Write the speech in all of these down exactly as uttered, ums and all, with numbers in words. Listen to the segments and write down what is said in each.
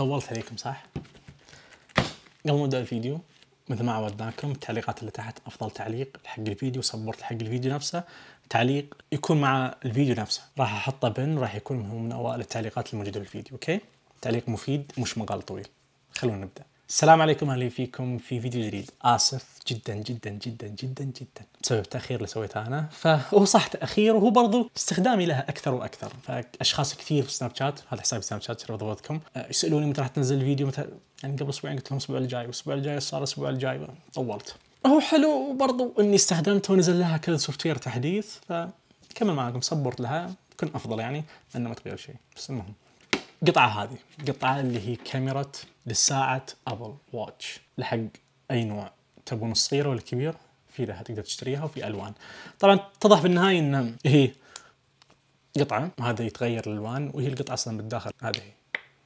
طولت عليكم صح؟ قبل ما نبدأ الفيديو مثل ما عودناكم التعليقات اللي تحت أفضل تعليق حق الفيديو سبورت حق الفيديو نفسه تعليق يكون مع الفيديو نفسه راح أحطه بن راح يكون من أوائل التعليقات الموجودة في الفيديو. أوكي تعليق مفيد مش مقال طويل. خلونا نبدأ. السلام عليكم أهلا فيكم في فيديو جديد. آسف جدا جدا جدا جدا جدا بسبب التأخير اللي سويته أنا. فهو صح تأخير وهو برضو استخدامي لها أكثر وأكثر. فأشخاص كثير في سناب شات هذا حسابي سناب شات شرف ضبطكم يسألوني متى راح تنزل الفيديو متى يعني قبل أسبوعين قلت لهم الأسبوع الجاي والأسبوع الجاي صار الأسبوع الجاي طولت. هو حلو برضو إني استخدمته ونزل لها كذا سوفت وير تحديث فكمل معكم سبورت لها يكون أفضل يعني إنه ما تغير شيء. بس المهم قطعة هذه قطعة اللي هي كاميرا للساعة أبل واتش لحق أي نوع تبون الصغيرة ولا الكبير في لها تقدر تشتريها وفي ألوان. طبعا اتضح في النهاية إن هي قطعة هذا يتغير الألوان وهي القطعة أصلا بالداخل هذه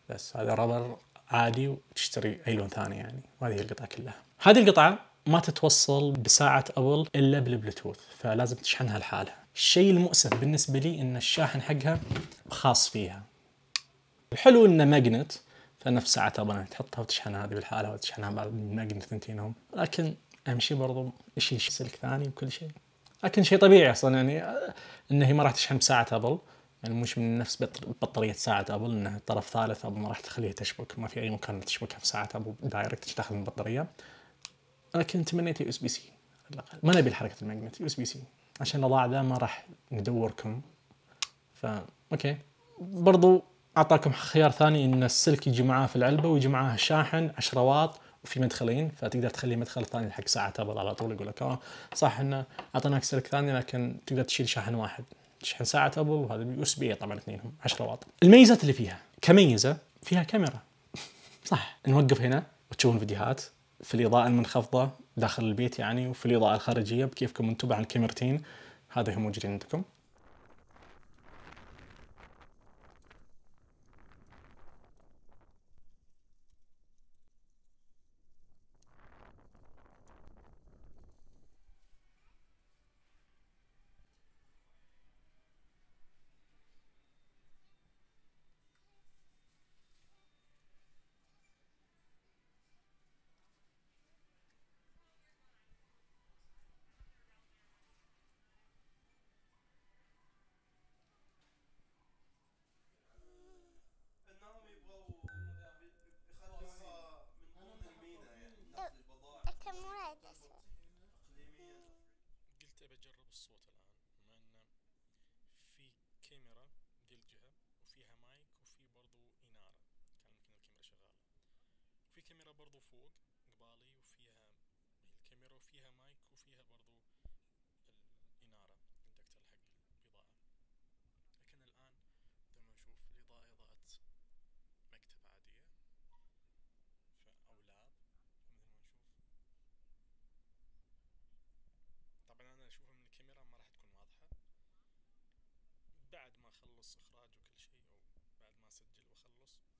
بس هذا رابر عادي وتشتري أي لون ثاني يعني وهذه هي القطعة كلها. هذه القطعة ما تتوصل بساعة أبل إلا بالبلوتوث فلازم تشحنها لحالها. الشيء المؤسف بالنسبة لي إن الشاحن حقها خاص فيها. الحلو إنه ماجنت فنفس ساعة أبل تحطها وتشحنها هذه بالحالة وتشحنها بعد الماجنت ثنتينهم لكن أهم شيء برضو يشيل سلك ثاني وكل شيء لكن شيء طبيعي أصلا يعني إنه هي ما راح تشحن بساعة أبل يعني مش من نفس بطارية ساعة أبل إنها طرف ثالث أبل ما راح تخليها تشبك ما في أي مكان تشبكها في ساعة أبل دايركت تدخل من البطارية لكن تمنيت يو اس بي سي ما نبي الحركة الماجنت يو اس بي سي عشان الوضع ذا ما راح ندوركم فا أوكي. برضو أعطاكم خيار ثاني إن السلك يجي معاه في العلبة ويجي معاه شاحن عشرة واط وفي مدخلين فتقدر تخلي مدخل ثاني حق ساعة أبل على طول يقول لك آه صح إنه أعطيناك سلك ثاني لكن تقدر تشيل شاحن واحد تشحن ساعة أبل وهذا يو اس بي طبعا اثنينهم عشرة واط. الميزات اللي فيها كميزة فيها كاميرا صح نوقف هنا وتشوفون فيديوهات في الإضاءة المنخفضة داخل البيت يعني وفي الإضاءة الخارجية بكيفكم انتم عن الكاميرتين هذا هم موجودين عندكم. قلت أبى أجرب الصوت الآن بما أنه في كاميرا ذي الجهة وفيها مايك وفي برضو إنارة كان ممكن الكاميرا شغالة وفي كاميرا برضو فوق قبالي وفيها الكاميرا وفيها مايك وفيها برضو الإنارة الدكتور حق الإضاءة. لكن الآن بدون ما نشوف الإضاءة إضاءة مكتب عادية أو لاب مثل ما نشوف. طبعا أنا أشوفها من الكاميرا ما راح تكون واضحة بعد ما أخلص إخراج وكل شيء أو بعد ما أسجل وأخلص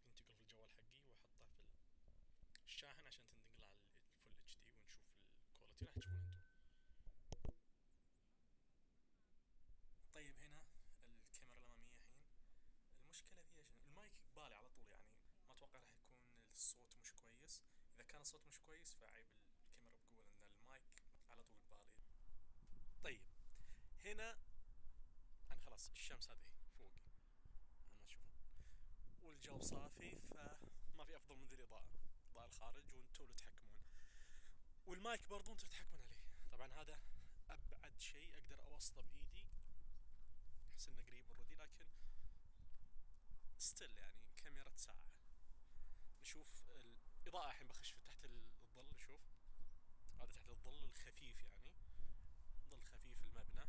بنتقل في الجوال حقي وأحطه في الشاحن عشان تنتقل على الفول اتش دي ونشوف الكواليتي راح تشوفون انتم. طيب هنا الكاميرا الأمامية الحين المشكلة فيها شنو؟ المايك قبالي على طول يعني ما أتوقع راح يكون الصوت مش كويس. إذا كان الصوت مش كويس فعيب الكاميرا بقول إن المايك على طول قبالي. طيب هنا أنا خلاص الشمس هذه فوق ما تشوفون والجو صافي فما في أفضل من ذي الإضاءة إضاءة الخارج وانتوا اللي تحكمون والمايك برضو انتوا تحكمون عليه. طبعا هذا أبعد شيء أقدر أوصله بإيدي أحس إنه قريب اوريدي لكن ستيل يعني كاميرا ساعة. نشوف الإضاءة الحين بخش في تحت الظل نشوف هذا تحت الظل الخفيف يعني ظل خفيف المبنى.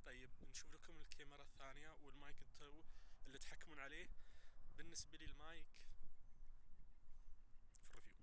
طيب نشوف لكم الكاميرا الثانية والمايك انتوا اللي تحكمون عليه. بالنسبة لي المايك في الريفيو.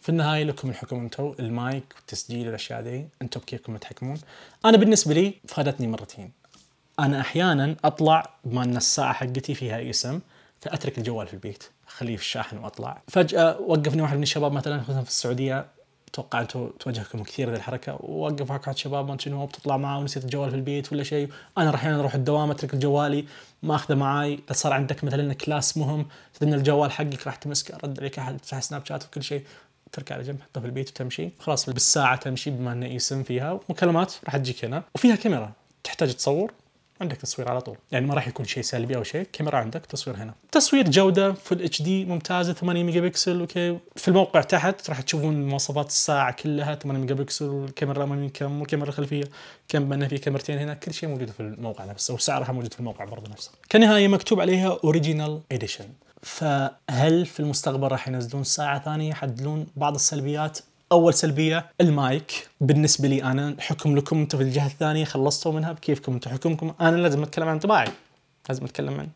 في النهايه لكم الحكم انتم، المايك والتسجيل والاشياء ذي انتم بكيفكم تحكمون. انا بالنسبه لي فادتني مرتين. انا احيانا اطلع بما ان الساعه حقتي فيها اسم، فاترك الجوال في البيت اخليه في الشاحن واطلع. فجاه وقفني واحد من الشباب مثلا خصوصا في السعوديه، اتوقع انتم تواجهكم كثير ذي الحركه، ووقف واحد شباب ما شنو بتطلع معاه ونسيت الجوال في البيت ولا شيء. انا احيانا اروح الدوام اترك جوالي ما اخذه معاي، صار عندك مثلا كلاس مهم تدن الجوال حقك راح تمسكه، رد عليك احد تفتح سناب شات وكل شيء، تركع على جنب حطه في البيت وتمشي خلاص. بالساعه تمشي بما انه اسم فيها مكالمات راح تجيك هنا، وفيها كاميرا تحتاج تصور عندك تصوير على طول، يعني ما راح يكون شيء سلبي او شيء. كاميرا عندك تصوير هنا، تصوير جوده فل اتش دي ممتازه ثمانية ميجا بكسل. اوكي في الموقع تحت راح تشوفون مواصفات الساعه كلها ثمانية ميجا بكسل، والكاميرا الاماميه كم، والكاميرا الخلفيه كم، بان في كاميرتين هنا، كل شيء موجود في الموقع نفسه، وسعرها موجود في الموقع برضه نفسه. كنهايه مكتوب عليها اوريجينال اديشن. فهل في المستقبل راح ينزلون ساعه ثانيه يحددون بعض السلبيات؟ اول سلبيه المايك. بالنسبه لي انا، حكم لكم انتم في الجهه الثانيه، خلصتوا منها بكيفكم انتم حكمكم. انا لازم اتكلم عن انطباعي، لازم اتكلم عن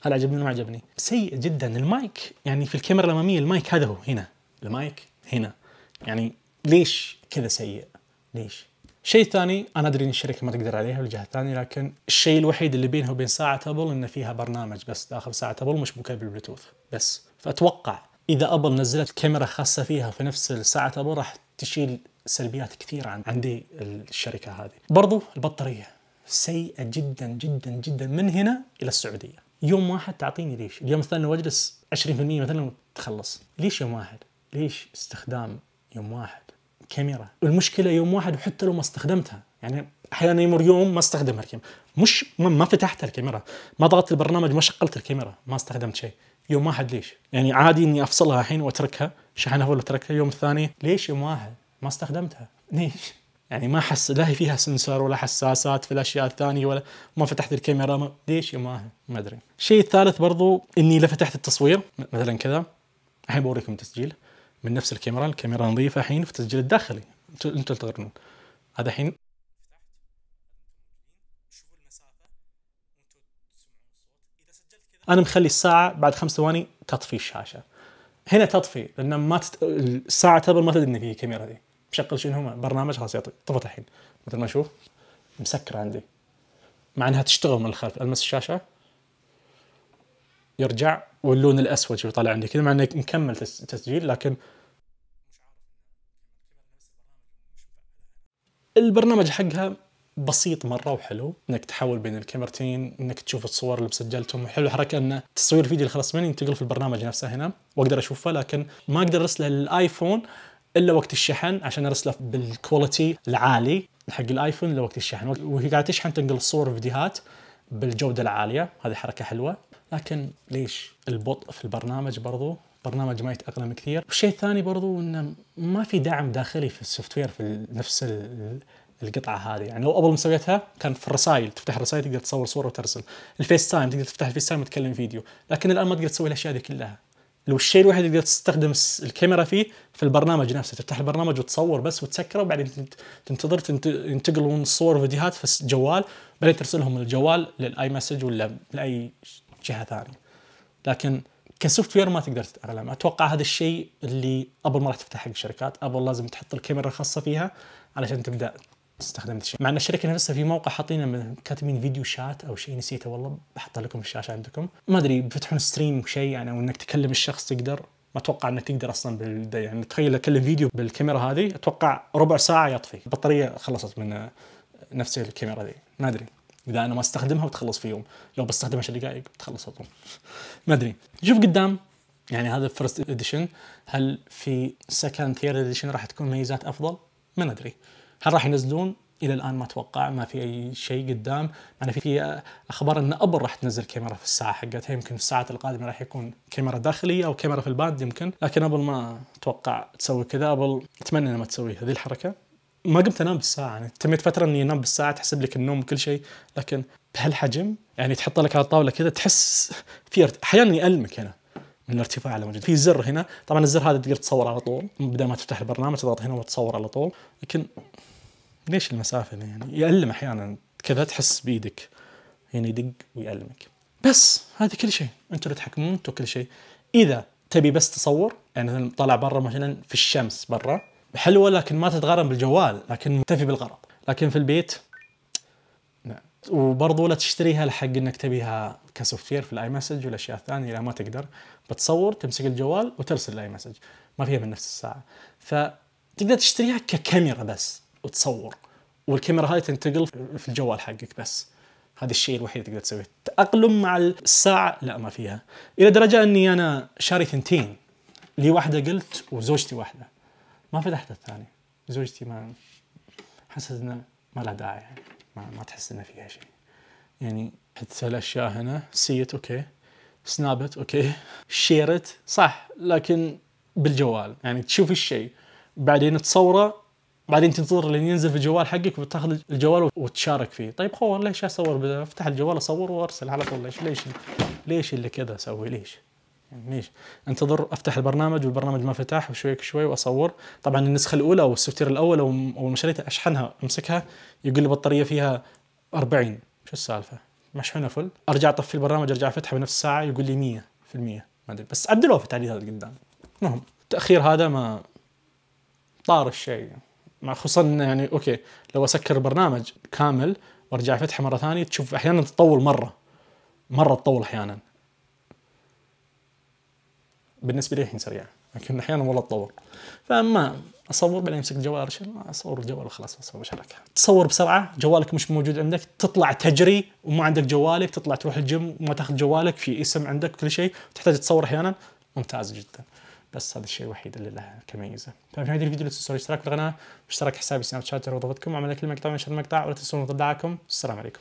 هل عجبني ما عجبني. سيء جدا المايك، يعني في الكاميرا الاماميه المايك هذا هو هنا، المايك هنا، يعني ليش كذا سيء؟ ليش؟ شيء ثاني، انا ادري ان الشركه ما تقدر عليها والجهه الثانيه، لكن الشيء الوحيد اللي بينها وبين ساعه ابل ان فيها برنامج بس داخل ساعه ابل مشبوكه بالبلوتوث بس. فاتوقع اذا ابل نزلت كاميرا خاصه فيها في نفس الساعه ابل راح تشيل سلبيات كثيره عن عندي الشركه هذه. برضو البطاريه سيئه جدا جدا جدا من هنا الى السعوديه. يوم واحد تعطيني ليش؟ اليوم الثاني واجلس عشرين بالمئة مثلا وتخلص. ليش يوم واحد؟ ليش استخدام يوم واحد كاميرا؟ المشكله يوم واحد وحتى لو ما استخدمتها، يعني احيانا يمر يوم ما استخدمها الكاميرا، مش ما فتحت الكاميرا، ما ضغطت البرنامج، ما شغلت الكاميرا، ما استخدمت شيء. يوم واحد ليش؟ يعني عادي اني افصلها الحين واتركها شحنها ولا اتركها. يوم الثاني ليش يوم واحد ما استخدمتها؟ ليش؟ يعني ما حس لا هي فيها سنسور ولا حساسات في الاشياء الثانيه، ولا ما فتحت الكاميرا، ما ليش يوم واحد؟ ما ادري. الشيء الثالث برضو اني لا فتحت التصوير مثلا كذا. الحين بوريكم تسجيل من نفس الكاميرا، الكاميرا نظيفه الحين في التسجيل الداخلي، انتم انتم تقرنون هذا الحين. انا مخلي الساعه بعد خمس ثواني تطفي الشاشه، هنا تطفي لان ما تت... الساعه تبل ما تدري ان في كاميرا دي. بشغل شنو هم برنامج خلاص يطفي، طفت الحين مثل ما اشوف مسكره عندي، مع انها تشتغل من الخلف. المس الشاشه يرجع، واللون الاسود شوف طالع عندي كذا، مع انه مكمل تسجيل لكن البرنامج حقها بسيط مره وحلو، انك تحول بين الكاميرتين، انك تشوف الصور اللي مسجلتهم. حلو حركه ان تصوير الفيديو اللي خلص مني ينتقل في البرنامج نفسه هنا واقدر اشوفه، لكن ما اقدر ارسله للايفون الا وقت الشحن عشان ارسله بالكواليتي العالي حق الايفون الا وقت الشحن، وهي قاعده تشحن تنقل الصور والفيديوهات بالجوده العاليه. هذه حركه حلوه، لكن ليش البطء في البرنامج؟ برضو برنامج ما يتاقلم كثير. والشيء الثاني برضو انه ما في دعم داخلي في السوفت وير في نفس القطعه هذه. يعني لو ابل مسويتها كانت في الرسائل، تفتح الرسائل تقدر تصور صوره وترسل، الفيس تايم تقدر تفتح الفيس تايم وتكلم فيديو، لكن الان ما تقدر تسوي الاشياء دي كلها. لو الشيء الوحيد اللي تقدر تستخدم الكاميرا فيه في البرنامج نفسه، تفتح البرنامج وتصور بس وتسكره، وبعدين تنتظر ينتقلون الصور وفيديوهات في الجوال، بعدين ترسلهم من الجوال للاي مسج ولا لاي جهه ثانيه. لكن كسوفت وير ما تقدر تتأقلم. اتوقع هذا الشيء اللي ابل ما راح تفتح حق الشركات. ابل لازم تحط الكاميرا الخاصه فيها علشان تبدا تستخدم الشيء. مع ان الشركه نفسها في موقع حاطين كاتبين فيديو شات او شيء، نسيته والله، بحط لكم الشاشه عندكم. ما ادري بيفتحون ستريم شيء يعني، او انك تكلم الشخص تقدر. ما اتوقع انك تقدر اصلا بال يعني تخيل اكلم فيديو بالكاميرا هذه، اتوقع ربع ساعه يطفي، البطاريه خلصت من نفس الكاميرا ذي. ما ادري اذا انا ما استخدمها بتخلص في يوم، لو بستخدمها عشر دقائق بتخلص اطول. ما ادري. شوف قدام، يعني هذا فيرست اديشن، هل في سكند ثيرد اديشن راح تكون ميزات افضل؟ ما ندري. هل راح ينزلون؟ الى الان ما اتوقع، ما في اي شيء قدام. انا في في اخبار ان ابل راح تنزل كاميرا في الساعه حقتها، يمكن في الساعات القادمه راح يكون كاميرا داخليه او كاميرا في الباند يمكن، لكن ابل ما اتوقع تسوي كذا. ابل اتمنى انها ما تسوي هذه الحركه. ما قمت انام بالساعه، يعني تميت فتره اني انام بالساعه تحسب لك النوم وكل شيء، لكن بهالحجم يعني تحط لك على الطاوله كذا تحس في احيانا يألمك هنا من الارتفاع اللي موجود. في زر هنا، طبعا الزر هذا تقدر تصور على طول بدل ما تفتح البرنامج، تضغط هنا وتصور على طول، لكن ليش المسافه يعني يألم احيانا كذا، تحس بيدك هنا يدق ويألمك. بس هذا كل شيء، انتم اللي تحكمون، انتم كل شيء. اذا تبي بس تصور يعني مثلا طالع برا مثلا في الشمس برا حلوة لكن ما تتغرم بالجوال لكن مكتفي بالغرض. لكن في البيت لا. وبرضو لا تشتريها لحق انك تبيها كسوفت وير في الاي مسج والاشياء الثانيه، لا ما تقدر. بتصور تمسك الجوال وترسل الاي مسج، ما فيها من نفس الساعه. فتقدر تشتريها ككاميرا بس وتصور، والكاميرا هاي تنتقل في الجوال حقك بس. هذا الشيء الوحيد اللي تقدر تسويه. تأقلم مع الساعه لا ما فيها، الى درجه اني انا شاري ثنتين، لي واحده قلت وزوجتي واحده، ما فتحت الثانيه. زوجتي ما حسيت انه ما له داعي يعني، ما, ما تحس انه فيها شيء يعني. حتى الاشياء هنا سيت اوكي، سنابت اوكي، شيرت صح، لكن بالجوال يعني تشوف الشيء بعدين تصوره بعدين تنتظر لين ينزل في الجوال حقك وتاخذ الجوال وتشارك فيه. طيب خور ليش اصور؟ افتح الجوال اصور وارسل على طول. ليش ليش ليش اللي كذا اسوي؟ ليش يعني ليش انتظر افتح البرنامج والبرنامج ما فتح وشوي شوي واصور؟ طبعا النسخه الاولى او السوفت وير الاول او اول ما شريتها اشحنها امسكها يقول لي بطاريه فيها أربعين، شو السالفه؟ مشحونه فل، ارجع اطفي البرنامج ارجع افتحها بنفس الساعه يقول لي مية في المية، ما ادري بس عدلوها في التعديلات قدام. المهم التاخير هذا ما طار الشيء، مع خصوصا يعني اوكي لو اسكر البرنامج كامل وارجع افتحه مره ثانيه تشوف احيانا تطول مره مره تطول احيانا. بالنسبه لي الحين سريع لكن احيانا والله تطور. فما اصور بعدين امسك الجوال ارسل، ما اصور الجوال وخلاص اصور شبكه. تصور بسرعه جوالك مش موجود عندك، تطلع تجري وما عندك جوالك، تطلع تروح الجيم وما تاخذ جوالك في اسم عندك كل شيء تحتاج تصور احيانا، ممتاز جدا. بس هذا الشيء الوحيد اللي له كميزه. ففي هذا الفيديو لا تنسوا الاشتراك في القناه واشتراك حسابي سناب شات لو ضبطكم، عمل كل مقطع ونشر المقطع ولا تنسون تدعمكم. السلام عليكم.